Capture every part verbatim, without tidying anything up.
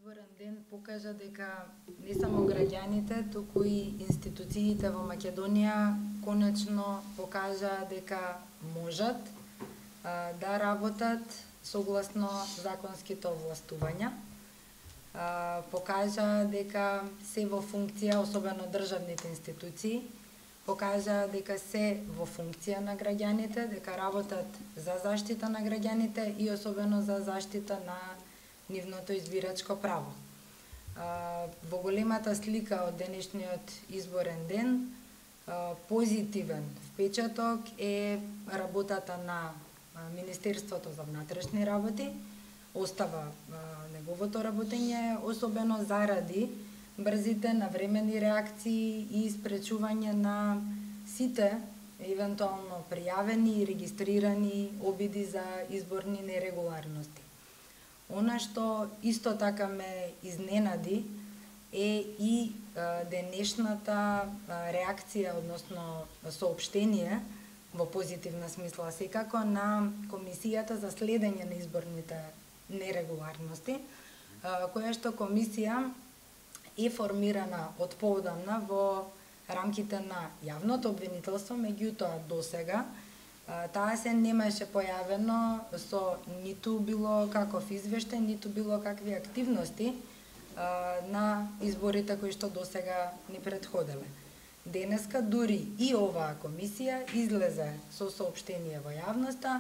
изборен ден покажа дека не само граѓаните, туку и институциите во Македонија конечно покажа дека можат а, да работат согласно законските овластувања. А, покажа дека се во функција, особено државните институции, покажа дека се во функција на граѓаните, дека работат за заштита на граѓаните и особено за заштита на нивното избирачко право. А, во големата слика од денешниот изборен ден, а, позитивен впечаток е работата на Министерството за внатрешни работи, остава а, неговото работење, особено заради брзите навремени реакции и спречување на сите евентуално пријавени и регистрирани обиди за изборни нерегуларности. Она што исто така ме изненади е и а, денешната а, реакција, односно соопштение во позитивна смисла секако на Комисијата за следење на изборните нерегуларности, а, која што комисија е формирана од поодамна во рамките на јавното обвинителство, меѓутоа досега таа се немаше појавено со ниту било каков извештај, ниту било какви активности а, на изборите кои што досега ни претходеле. Денеска дури и оваа комисија излезе со соопштение во јавноста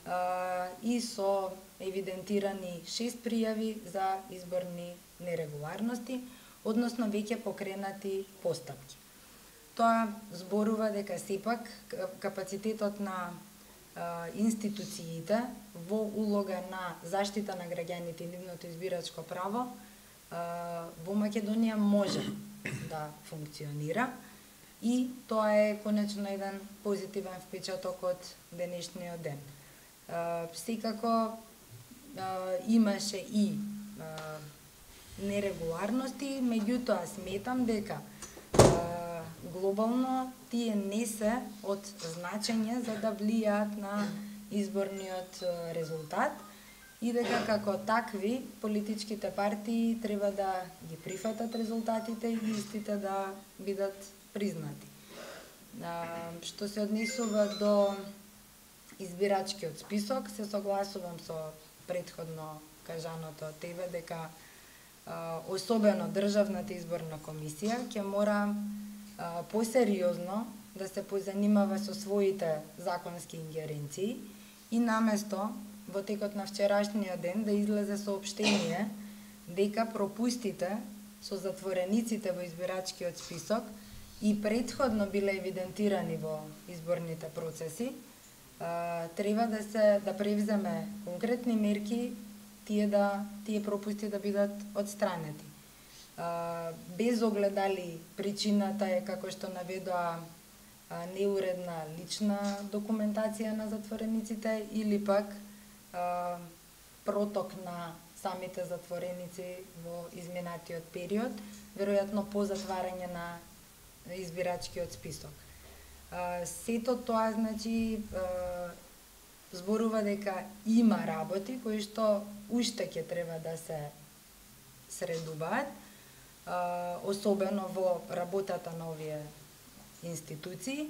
а, и со евидентирани шест пријави за изборни нерегуларности, односно веќе покренати постапки. Тоа зборува дека сепак капацитетот на а, институциите во улога на заштита на граѓаните и нивното избирачко право а, во Македонија може да функционира и тоа е конечно еден позитивен впечаток од денешниот ден. А, секако а, имаше и а, нерегуларности, меѓутоа сметам дека а, глобално тие не се од значење за да влијаат на изборниот резултат и дека како такви политичките партии треба да ги прифатат резултатите и истите да бидат признати. А, што се однесува до избирачкиот список, се согласувам со претходно кажаното од тебе дека а, особено Државната изборна комисија ќе мора посериозно да се позанимава со своите законски ингеренции и наместо во текот на вчерашниот ден да излезе соопштение дека пропустите со затворениците во избирачкиот список и претходно биле евидентирани во изборните процеси, треба да се да превземе конкретни мерки тие да тие пропусти да бидат отстранети. Uh, без оглед дали причината е, како што наведоа, uh, неуредна лична документација на затворениците или пак uh, проток на самите затвореници во изминатиот период, веројатно по затварање на избирачкиот список. Uh, сето тоа значи uh, зборува дека има работи кои што уште ќе треба да се средуваат, особено во работата на овие институции,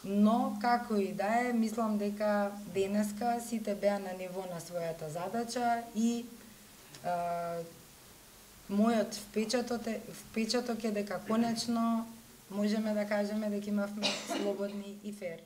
но како и да е, мислам дека денеска сите беа на ниво на својата задача и а, мојот впечаток е, впечаток е дека конечно можеме да кажеме дека имавме слободни и фер